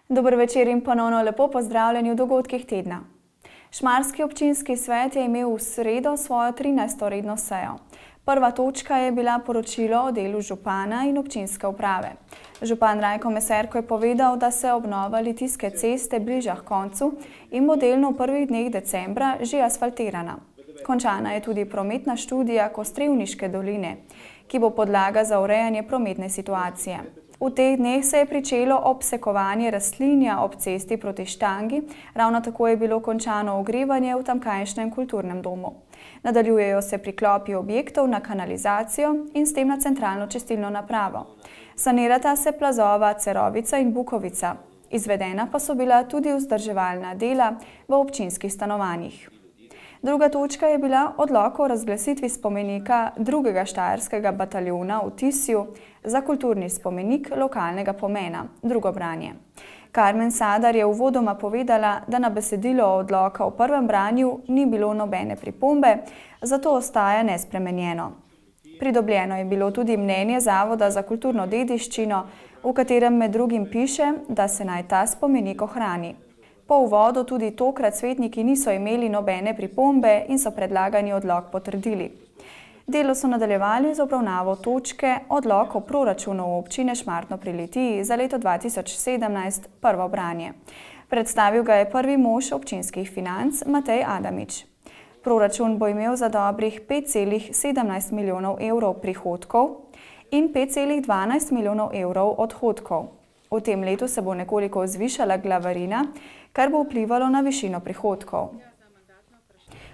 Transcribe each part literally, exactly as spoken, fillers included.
Dober večer in ponovno lepo pozdravljeni v dogodkih tedna. Šmarski občinski svet je imel v sredo svojo trinajsto redno sejo. Prva točka je bila poročilo o delu župana in občinske uprave. Župan Rajko Meserko je povedal, da se obnova Litijske ceste bliža h koncu in bo delno v prvih dneh decembra že asfaltirana. Končana je tudi prometna študija Kostrevniške doline, ki bo podlaga za urejanje prometne situacije. V teh dneh se je pričelo obsekovanje rastlinja ob cesti proti Štangi, ravno tako je bilo končano ogrevanje v tamkajšnjem kulturnem domu. Nadaljujejo se priklopi objektov na kanalizacijo in s tem na centralno čistilno napravo. Sanirata se plazova Cerovica in Bukovica. Izvedena pa so bila tudi vzdrževalna dela v občinskih stanovanjih. Druga točka je bila odlok o razglasitvi spomenika drugega štajerskega bataljona v Tisju za kulturni spomenik lokalnega pomena, drugo branje. Karmen Sadar je uvodoma povedala, da na besedilo odloka v prvem branju ni bilo nobene pripombe, zato ostaja nespremenjeno. Pridobljeno je bilo tudi mnenje Zavoda za kulturno dediščino, v katerem med drugim piše, da se naj ta spomenik ohrani. Po uvodu tudi tokrat svetniki niso imeli nobene pripombe in so predlagani odlok potrdili. Delo so nadaljevali z obravnavo točke odlok o proračunu občine Šmartno pri Litiji za leto dva tisoč sedemnajst, prvo branje. Predstavil ga je prvi mož občinskih financ Matej Adamič. Proračun bo imel za dobrih pet celih sedemnajst milijonov evrov prihodkov in pet celih dvanajst milijonov evrov odhodkov. V tem letu se bo nekoliko zvišala glavarina, kar bo vplivalo na višino prihodkov.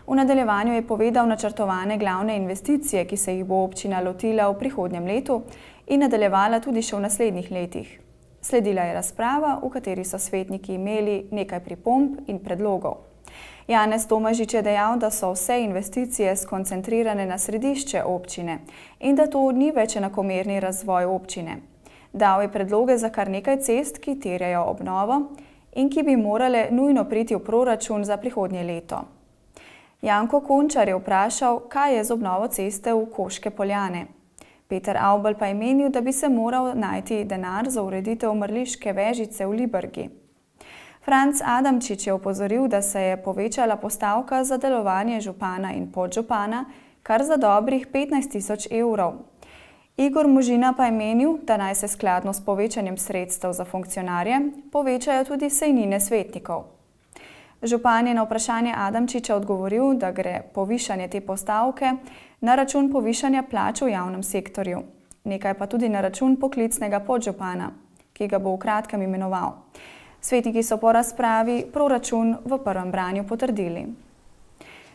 V nadaljevanju je povedal načrtovane glavne investicije, ki se jih bo občina lotila v prihodnjem letu in nadaljevala tudi še v naslednjih letih. Sledila je razprava, v kateri so svetniki imeli nekaj pripomb in predlogov. Janez Tomažič je dejal, da so vse investicije skoncentrirane na središče občine in da to ni več enakomerni razvoj občine. Dal je predloge za kar nekaj cest, ki terjajo obnovo in ki bi morale nujno priti v proračun za prihodnje leto. Janko Končar je vprašal, kaj je z obnovo ceste v Koške Poljane. Peter Avbelj pa je menil, da bi se moral najti denar za ureditev mrliške vežice v Librgi. Franc Adamčič je opozoril, da se je povečala postavka za delovanje župana in podžupana kar za dobrih petnajst tisoč evrov. Igor Možina pa je menil, da naj se skladno s povečanjem sredstev za funkcionarje povečajo tudi sejnine svetnikov. Župan je na vprašanje Adamčiča odgovoril, da gre povišanje te postavke na račun povišanja plač v javnem sektorju, nekaj pa tudi na račun poklicnega podžupana, ki ga bo v kratkem imenoval. Svetniki so po razpravi proračun v prvem branju potrdili.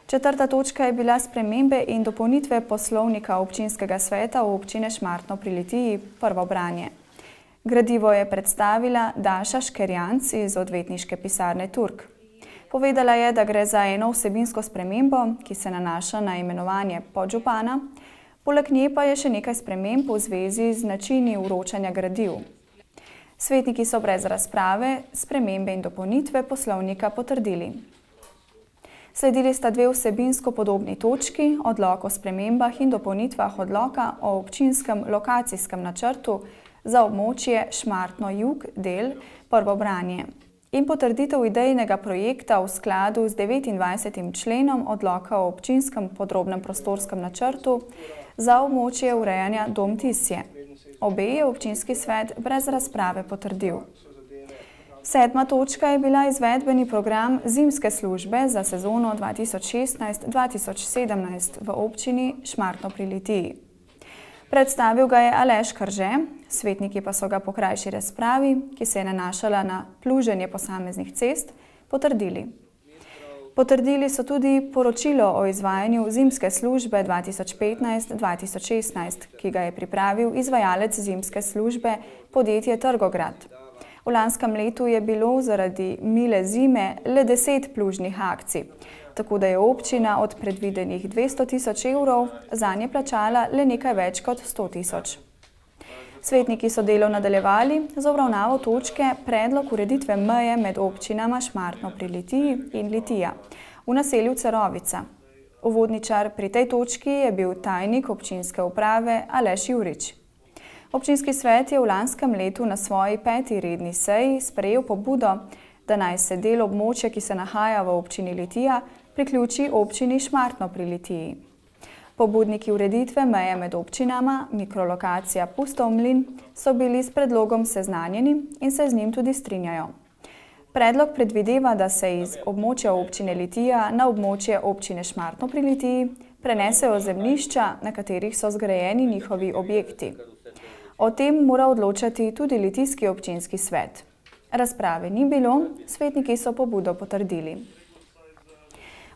Četrta točka je bila spremembe in dopolnitve poslovnika občinskega sveta v občine Šmartno pri Litiji, prvo branje. Gradivo je predstavila Daša Škerjanc iz odvetniške pisarne Turk. Povedala je, da gre za eno vsebinsko spremembo, ki se nanaša na imenovanje podžupana, poleg nje pa je še nekaj sprememb v zvezi z načini vročanja gradiv. Svetniki so brez razprave spremembe in dopolnitve poslovnika potrdili. Sledili sta dve vsebinsko podobni točki, odlok o spremembah in dopolnitvah odloka o občinskem lokacijskem načrtu za območje Šmartno jug del, prvo branje, in potrditev idejnega projekta v skladu z devetindvajsetim členom odloka o občinskem podrobnem prostorskem načrtu za območje urejanja Dom Tisje. Obe je občinski svet brez razprave potrdil. Sedma točka je bila izvedbeni program zimske službe za sezono dva tisoč šestnajst dva tisoč sedemnajst v občini Šmartno pri Litiji. Predstavil ga je Aleš Krže, svetniki pa so ga po krajši razpravi, ki se je nanašala na pluženje posameznih cest, potrdili. Potrdili so tudi poročilo o izvajanju zimske službe dva tisoč petnajst dva tisoč šestnajst, ki ga je pripravil izvajalec zimske službe podjetje Trgograd. V lanskem letu je bilo zaradi mile zime le deset plužnih akcij, tako da je občina od predvidenih dvesto tisoč evrov zanje plačala le nekaj več kot sto tisoč. Svetniki so delo nadaljevali z obravnavo točke predlog ureditve meje med občinama Šmartno pri Litiji in Litija v naselju Cerovica. Uvodničar pri tej točki je bil tajnik občinske uprave Aleš Jurič. Občinski svet je v lanskem letu na svoji peti redni seji sprejel pobudo, da naj se del območja, ki se nahaja v občini Litija, priključi občini Šmartno pri Litiji. Pobudniki ureditve meje med občinama, mikrolokacija Pustov mlin, so bili s predlogom seznanjeni in se z njim tudi strinjajo. Predlog predvideva, da se iz območja občine Litija na območje občine Šmartno pri Litiji prenesejo zemljišča, na katerih so zgrajeni njihovi objekti. O tem mora odločati tudi litijski občinski svet. Razprave ni bilo, svetniki so pobudo potrdili.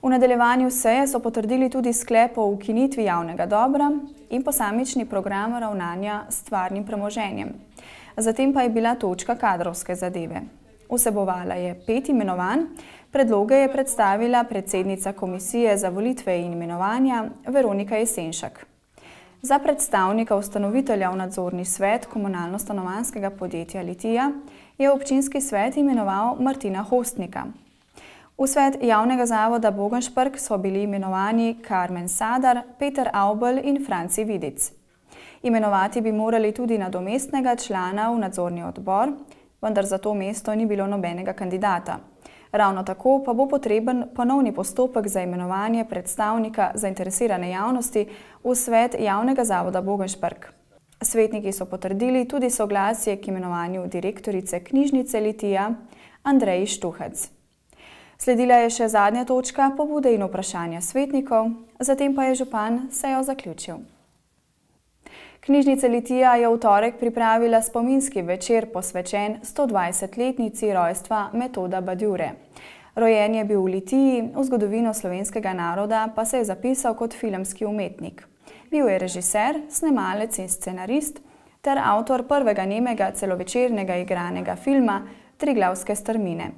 V nadaljevanju seje so potrdili tudi sklep o ukinitvi javnega dobra in posamični program ravnanja s stvarnim premoženjem. Zatem pa je bila točka kadrovske zadeve. Vsebovala je pet imenovanj, predloge je predstavila predsednica Komisije za volitve in imenovanja Veronika Jesenšak. Za predstavnika ustanovitelja v nadzorni svet komunalno-stanovanjskega podjetja Litija je občinski svet imenoval Martina Hostnika. V svet javnega zavoda Bogenšprk so bili imenovani Karmen Sadar, Peter Avbelj in Franci Vidic. Imenovati bi morali tudi nadomestnega člana v nadzorni odbor, vendar za to mesto ni bilo nobenega kandidata. Ravno tako pa bo potreben ponovni postopek za imenovanje predstavnika zainteresirane javnosti v svet javnega zavoda Bogenšprk. Svetniki so potrdili tudi soglasje k imenovanju direktorice knjižnice Litija Andreji Štuhec. Sledila je še zadnja točka, pobude in vprašanja svetnikov, zatem pa je župan sejo zaključil. Knjižnica Litija je v torek pripravila spominski večer posvečen stodvajsetletnici rojstva Metoda Badjure. Rojen je bil v Litiji, v zgodovino slovenskega naroda pa se je zapisal kot filmski umetnik. Bil je režiser, snemalec in scenarist ter avtor prvega nemega celovečernega igranega filma Triglavske strmine.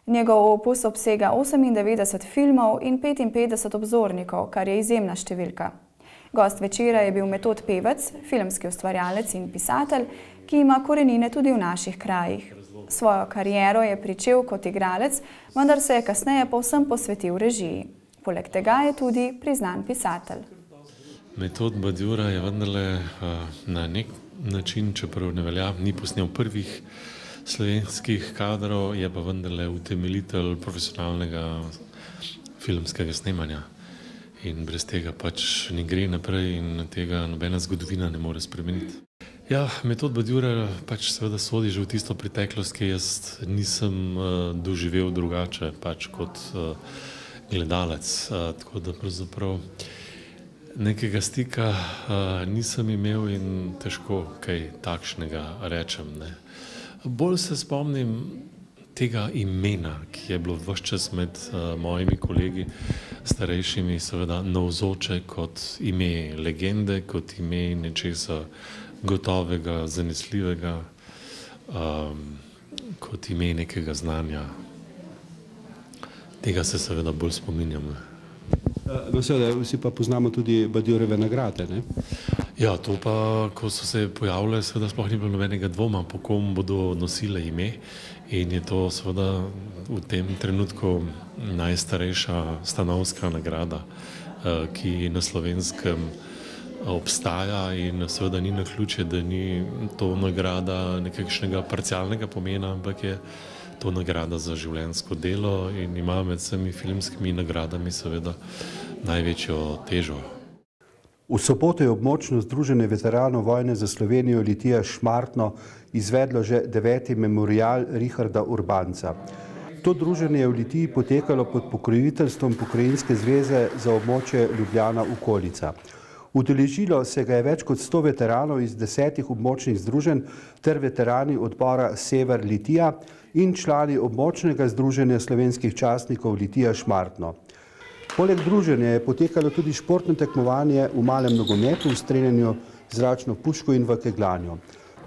Njegov opus obsega osemindevetdeset filmov in petinpetdeset obzornikov, kar je izjemna številka. Gost večera je bil Metod Pevec, filmski ustvarjalec in pisatelj, ki ima korenine tudi v naših krajih. Svojo kariero je pričel kot igralec, vendar se je kasneje povsem posvetil režiji. Poleg tega je tudi priznan pisatelj. Metod Badjura je vendarle na nek način, čeprav ne velja, ni posnel prvih slovenskih kadrov, je pa vendarle utemeljitelj profesionalnega filmskega snemanja. In brez tega pač ne gre naprej in tega nobena zgodovina ne more spremeniti. Ja, Metod Badjura pač seveda sodi že v tisto preteklost, ki jaz nisem uh, doživel drugače pač kot uh, gledalec. Uh, tako da pravzaprav nekega stika uh, nisem imel in težko kaj takšnega rečem. Ne. Bolj se spomnim tega imena, ki je bilo ves čas med uh, mojimi kolegi starejšimi seveda navzoče kot ime legende, kot ime nečesa gotovega, zanesljivega, um, kot ime nekega znanja. Tega se seveda bolj spominjam. No, seveda, vsi pa poznamo tudi Badjurove nagrade, ne? Ja, to pa, ko so se pojavile, seveda sploh ni bilo nobenega dvoma, po kom bodo nosile ime. In je to seveda v tem trenutku najstarejša stanovska nagrada, ki na Slovenskem obstaja in seveda ni naključje, da ni to nagrada nekakšnega parcialnega pomena, ampak je to nagrada za življenjsko delo in ima med vsemi filmskimi nagradami seveda največjo težo. V soboto je območno združenje veteranov vojne za Slovenijo Litija Šmartno izvedlo že deveti memorial Richarda Urbanca. To druženje je v Litiji potekalo pod pokroviteljstvom Pokrajinske zveze za območje Ljubljana okolica. Udeležilo se ga je več kot sto veteranov iz desetih območnih združenj ter veterani odbora Sever Litija in člani območnega združenja slovenskih častnikov Litija Šmartno. Poleg druženja je potekalo tudi športno tekmovanje v malem nogometu, v streljanju zračno puško in v kegljanju.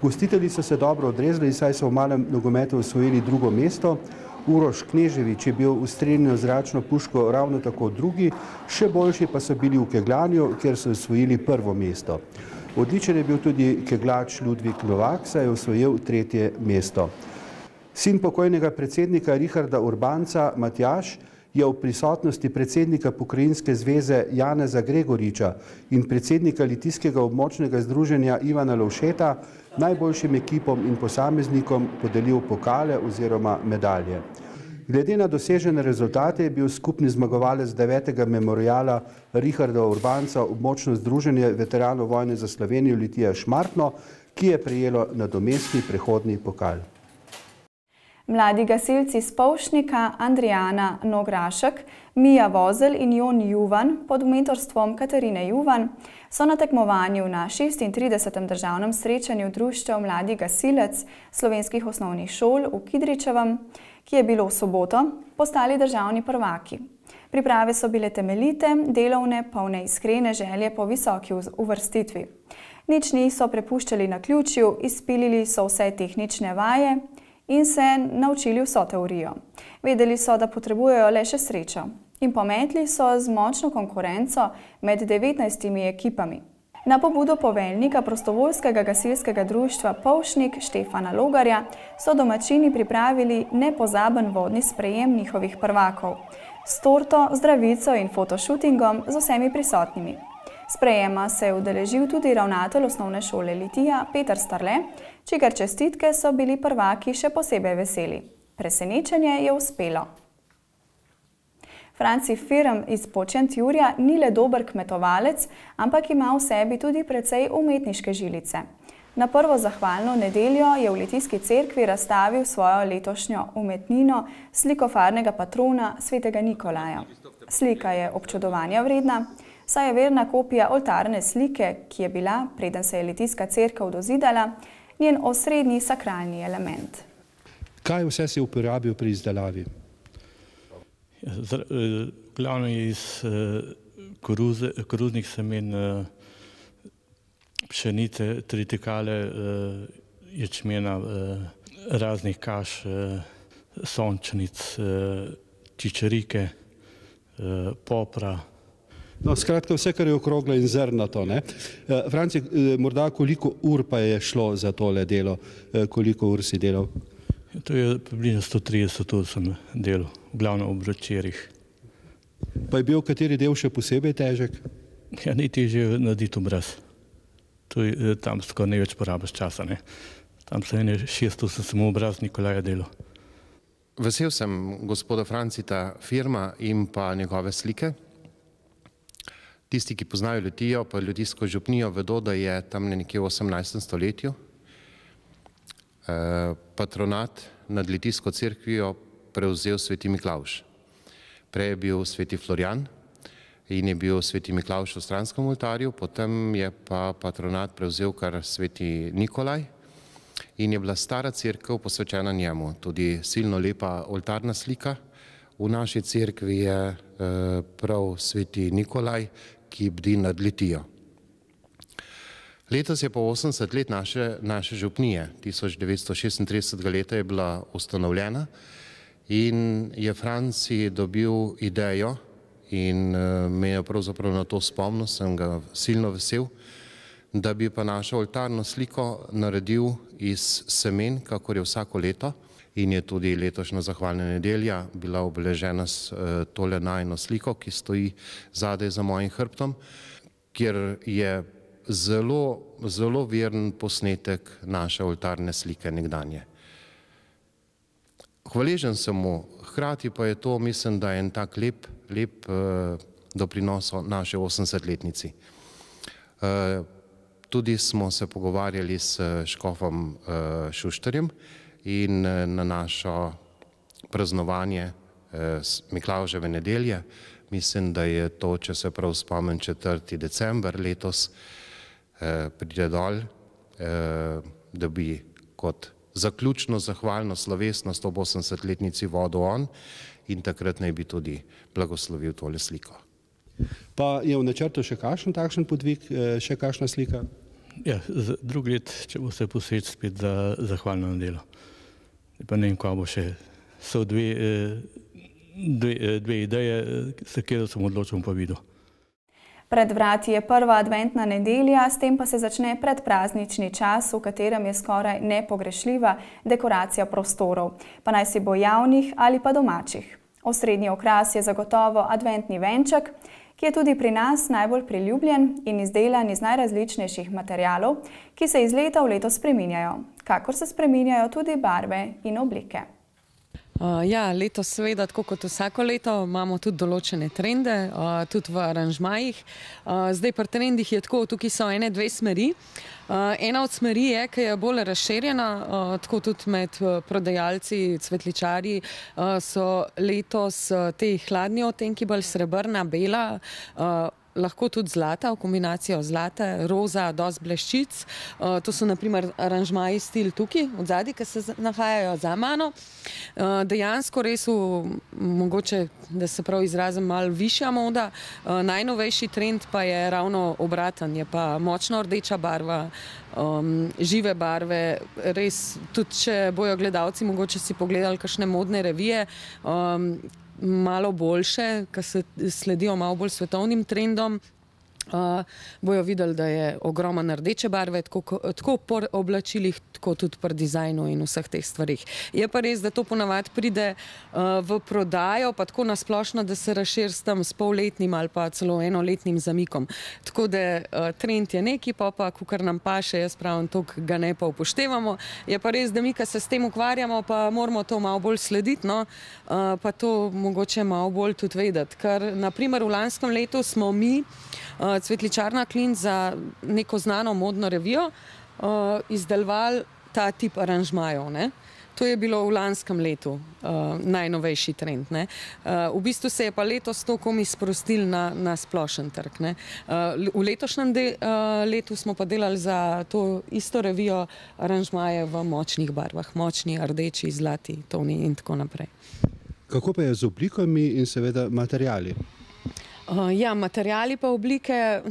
Gostitelji so se dobro odrezali, saj so v malem nogometu osvojili drugo mesto. Uroš Kneževič je bil v streljanju zračno puško ravno tako drugi, še boljši pa so bili v kegljanju, kjer so osvojili prvo mesto. Odličen je bil tudi keglač Ludvik Novak, saj je osvojil tretje mesto. Sin pokojnega predsednika Richarda Urbanca, Matjaž, je v prisotnosti predsednika Pokrajinske zveze Janeza Gregoriča in predsednika Litijskega območnega združenja Ivana Lovšeta najboljšim ekipom in posameznikom podelil pokale oziroma medalje. Glede na dosežene rezultate je bil skupni zmagovalec devetega memoriala Richarda Urbanca območno združenje veteranov vojne za Slovenijo Litija Šmartno, ki je prejelo nadomestni prehodni pokal. Mladi gasilci iz Polšnika Andrijana Nograšek, Mija Vozelj in Jon Juvan pod mentorstvom Katarine Juvan so na tekmovanju na šestintridesetem državnem srečanju društev Mladi gasilec slovenskih osnovnih šol v Kidričevem, ki je bilo v soboto, postali državni prvaki. Priprave so bile temeljite, delovne, polne iskrene želje po visoki uvrstitvi. Nič niso prepuščali naključju, izpilili so vse tehnične vaje in se naučili vso teorijo. Vedeli so, da potrebujejo le še srečo in pometli so z močno konkurenco med devetnajstimi ekipami. Na pobudo poveljnika prostovoljskega gasilskega društva Polšnik Štefana Logarja so domačini pripravili nepozaben vodni sprejem njihovih prvakov s torto, zdravico in fotošutingom z vsemi prisotnimi. Sprejema se je udeležil tudi ravnatelj osnovne šole Litija Peter Starle, čigar čestitke so bili prvaki še posebej veseli. Presenečenje je uspelo. Franci Firm iz Počentjurja ni le dober kmetovalec, ampak ima v sebi tudi precej umetniške žilice. Na prvo zahvalno nedeljo je v Litijski cerkvi razstavil svojo letošnjo umetnino slikofarnega patrona svetega Nikolaja. Slika je občudovanja vredna, saj je verna kopija oltarne slike, ki je bila, preden se je Litijska cerkev dozidala, njen osrednji sakralni element. Kaj vse si uporabil pri izdelavi? Glavno je iz koruze, koruznih semen, pšenice, tritikale, ječmena, raznih kaš, sončnic, čičerike, popra. No, skratka, vse, kar je okroglo in zrnato, ne? Franci, morda koliko ur pa je šlo za tole delo? Koliko ur si delal? To je približno sto trideset ur sem delal, glavno ob večerih. Pa je bil kateri del še posebej težek? Ja, najtežje je narediti obraz. Tam skoraj največ porabiš časa, ne? Tam se ene šest ur sem samo obraz Nikolaja delal. Vesel sem gospoda Francita Firma in pa njegove slike. Tisti, ki poznajo Litijo, pa Litijsko župnijo, vedo, da je tam nekje v osemnajstem stoletju patronat nad Litijsko cerkvijo prevzel sveti Miklavž. Prej je bil sveti Florjan in je bil sveti Miklavž v stranskem oltarju, potem je pa patronat prevzel kar sveti Nikolaj in je bila stara cerkev posvečena njemu. Tudi silno lepa oltarna slika v naši cerkvi je prav sveti Nikolaj, ki bdi nad Litijo. Letos je pa osemdeset let naše, naše župnije, tisoč devetsto šestintridesetega leta je bila ustanovljena in je Franci dobil idejo in me je pravzaprav na to spomnil, sem ga silno vesel, da bi pa našo oltarno sliko naredil iz semen, kakor je vsako leto, in je tudi letošnja zahvalna nedelja bila obeležena s tole najino sliko, ki stoji zadaj za mojim hrbtom, kjer je zelo, zelo veren posnetek naše oltarne slike nekdanje. Hvaležen sem mu, hkrati pa je to, mislim, da je en tak lep, lep doprinos naše osemdesetletnici. Tudi smo se pogovarjali s škofom Šuštarjem in na našo praznovanje Miklavževe nedelje, mislim, da je to, če se prav spomnim, četrti december letos, pride dol, da bi kot zaključno zahvalno slovesnost ob osemdesetletnici vodil on in takrat naj bi tudi blagoslovil tole sliko. Pa je v načrtu še kakšen takšen podvig, še kakšna slika? Ja, drugi let, če bo se poseč spet za zahvalno nedelo. Pa ne vem, ko bo še, so dve, dve, dve ideje, za katero sem odločil pa videl. Pred vrati je prva adventna nedelja, s tem pa se začne predpraznični čas, v katerem je skoraj nepogrešljiva dekoracija prostorov, pa naj si bo javnih ali pa domačih. Osrednji okras je zagotovo adventni venček, ki je tudi pri nas najbolj priljubljen in izdelan iz najrazličnejših materialov, ki se iz leta v leto spreminjajo, kakor se spreminjajo tudi barve in oblike. Uh, ja, letos seveda, tako kot vsako leto, imamo tudi določene trende, uh, tudi v aranžmajih. Uh, zdaj pri trendih je tako, tukaj so ene dve smeri. Uh, ena od smeri je, ki je bolj razširjena, uh, tako tudi med uh, prodajalci, cvetličarji, uh, so letos uh, te hladni odtenki, bolj srebrna, bela, uh, lahko tudi zlata, v kombinacijo zlate, roza, dosti bleščic. Uh, to so naprimer aranžmaji stil tukaj, od zadaj, ki se nahajajo za mano. Uh, dejansko res v, mogoče, da se prav izrazim, malo višja moda. Uh, najnovejši trend pa je ravno obraten, je pa močno rdeča barva, um, žive barve, res, tudi če bojo gledalci mogoče si pogledali kakšne modne revije, um, malo boljše, ki se sledijo malo bolj svetovnim trendom, uh, bojo videli, da je ogromen rdeče barve, tako, tako po oblačilih, tako tudi pri dizajnu in vseh teh stvarih. Je pa res, da to ponavadi pride uh, v prodajo, pa tako nasplošno, da se razširi s tem s polletnim ali pa celo enoletnim zamikom. Tako da uh, trend je neki, pa pa, kakor nam paše, jaz pravim, toliko ga ne pa upoštevamo. Je pa res, da mi, ki se s tem ukvarjamo, pa moramo to malo bolj slediti, no? uh, pa to mogoče malo bolj tudi vedeti. Ker, naprimer, v lanskem letu smo mi, uh, Cvetličarna Klint, za neko znano modno revijo uh, izdelovali ta tip aranžmajev, ne. To je bilo v lanskem letu uh, najnovejši trend, ne. Uh, v bistvu se je pa letos to komi sprostil na, na splošen trg, ne. Uh, v letošnjem de, uh, letu smo pa delali za to isto revijo aranžmaje v močnih barvah, močni, rdeči, zlati, toni in tako naprej. Kako pa je z oblikami in seveda materijali? Uh, ja, materijali pa oblike,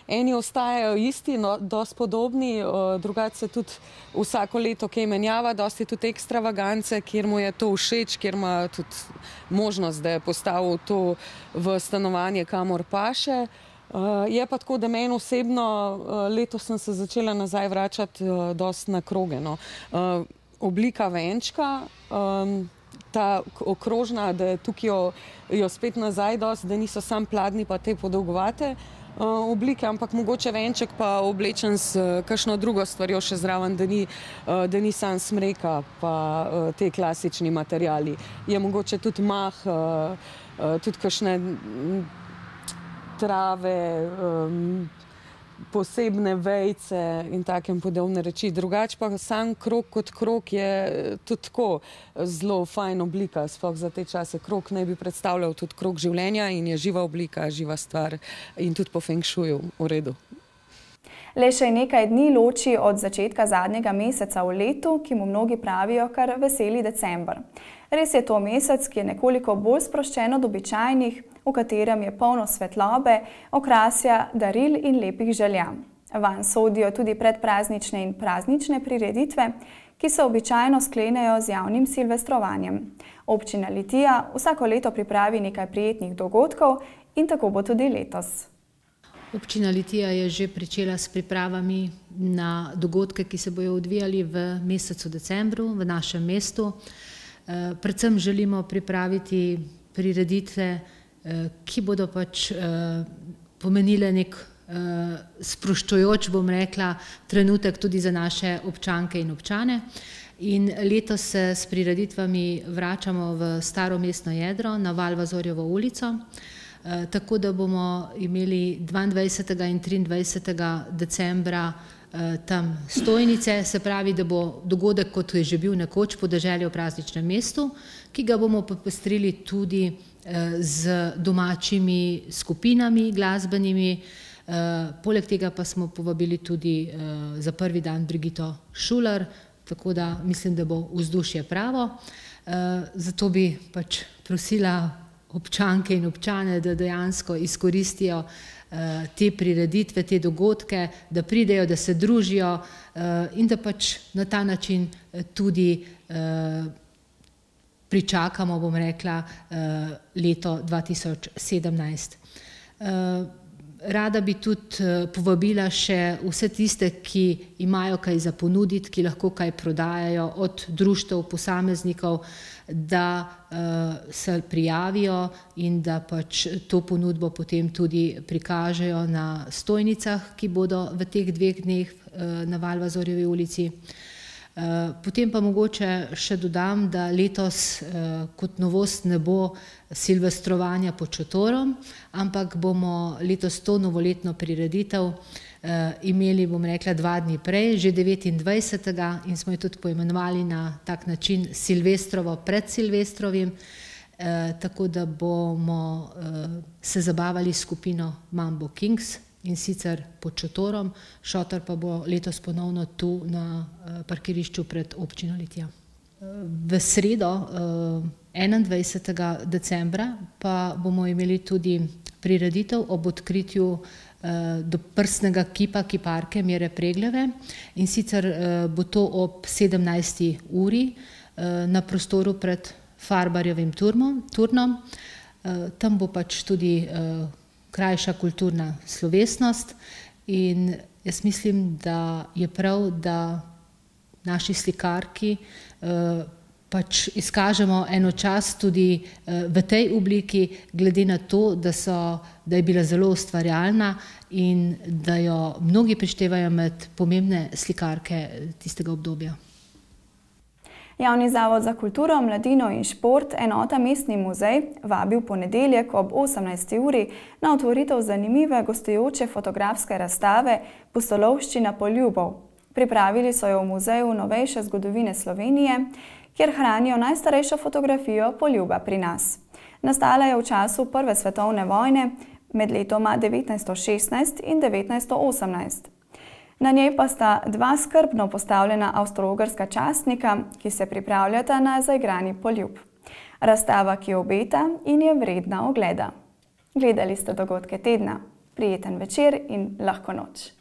eni ostajajo isti, no, dosti podobni, uh, drugače se tudi vsako leto kaj menjava, dosti je tudi ekstravagance, kjer mu je to všeč, kjer ima tudi možnost, da je postavil to v stanovanje, kamor paše. Uh, je pa tako, da meni osebno, uh, letos sem se začela nazaj vračati uh, dosti na kroge, no. Uh, oblika venčka, um, ta okrožna, da tukaj jo, jo spet nazaj dosti, da niso sam pladni pa te podolgovate uh, oblike, ampak mogoče venček pa oblečen s uh, kakšno drugo stvarjo še zraven, da ni, uh, da ni sam smreka pa uh, te klasični materijali. Je mogoče tudi mah, uh, uh, tudi kakšne trave, um, posebne vejce in takem podobne reči. Drugače pa sam krog kot krog je tudi tako zelo fajn oblika, sploh za te čase. Krog naj bi predstavljal tudi krog življenja in je živa oblika, živa stvar in tudi po feng shuju v redu. Le še nekaj dni loči od začetka zadnjega meseca v letu, ki mu mnogi pravijo kar veseli december. Res je to mesec, ki je nekoliko bolj sproščen od običajnih, v katerem je polno svetlobe, okrasja, daril in lepih želja. Vanj sodijo tudi predpraznične in praznične prireditve, ki se običajno sklenejo z javnim silvestrovanjem. Občina Litija vsako leto pripravi nekaj prijetnih dogodkov in tako bo tudi letos. Občina Litija je že pričela s pripravami na dogodke, ki se bojo odvijali v mesecu decembru v našem mestu. Predvsem želimo pripraviti prireditve, ki bodo pač pomenile nek sproščujoč, bom rekla, trenutek tudi za naše občanke in občane. In letos se s prireditvami vračamo v staro mestno jedro na Valvazorjevo ulico, tako da bomo imeli dvaindvajsetega in triindvajsetega decembra tam stojnice, se pravi, da bo dogodek, kot je že bil nekoč, Podeželje v prazničnem mestu, ki ga bomo popestrili tudi z domačimi skupinami glasbenimi. Poleg tega pa smo povabili tudi za prvi dan Brigito Šuler, tako da mislim, da bo vzdušje pravo. Zato bi pač prosila občanke in občane, da dejansko izkoristijo te prireditve, te dogodke, da pridejo, da se družijo in da pač na ta način tudi pričakamo, bom rekla, leto dva tisoč sedemnajst. Rada bi tudi povabila še vse tiste, ki imajo kaj za ponuditi, ki lahko kaj prodajajo, od društev, posameznikov, da se prijavijo in da pač to ponudbo potem tudi prikažejo na stojnicah, ki bodo v teh dveh dneh na Valvazorjevi ulici. Potem pa mogoče še dodam, da letos kot novost ne bo silvestrovanja pod šotorom, ampak bomo letos to novoletno prireditev imeli, bom rekla, dva dni prej, že devetindvajsetega in smo jo tudi poimenovali na tak način Silvestrovo pred Silvestrovim, tako da bomo se zabavali s skupino Mambo Kings in sicer pod šotorom, šotor pa bo letos ponovno tu na parkirišču pred občino Litija. V sredo enaindvajsetega decembra pa bomo imeli tudi prireditev ob odkritju doprsnega kipa kiparke Mire Pregljeve in sicer bo to ob sedemnajsti uri na prostoru pred Farbarjevim turnom. Tam bo pač tudi krajša kulturna slovesnost in jaz mislim, da je prav, da naši slikarki pač izkažemo eno čast tudi v tej obliki, glede na to, da so, da je bila zelo ustvarjalna in da jo mnogi prištevajo med pomembne slikarke tistega obdobja. Javni zavod za kulturo, mladino in šport, enota Mestni muzej, vabi v ponedeljek ob osemnajsti uri na otvoritev zanimive gostujoče fotografske razstave Pustolovščina poljubov. Pripravili so jo v Muzeju novejše zgodovine Slovenije, kjer hranijo najstarejšo fotografijo poljuba pri nas. Nastala je v času Prve svetovne vojne med letoma devetnajststo šestnajst in devetnajststo osemnajst. Na njej pa sta dva skrbno postavljena avstro-ogrska častnika, ki se pripravljata na zaigrani poljub. Razstava, ki obeta in je vredna ogleda. Gledali ste dogodke tedna. Prijeten večer in lahko noč.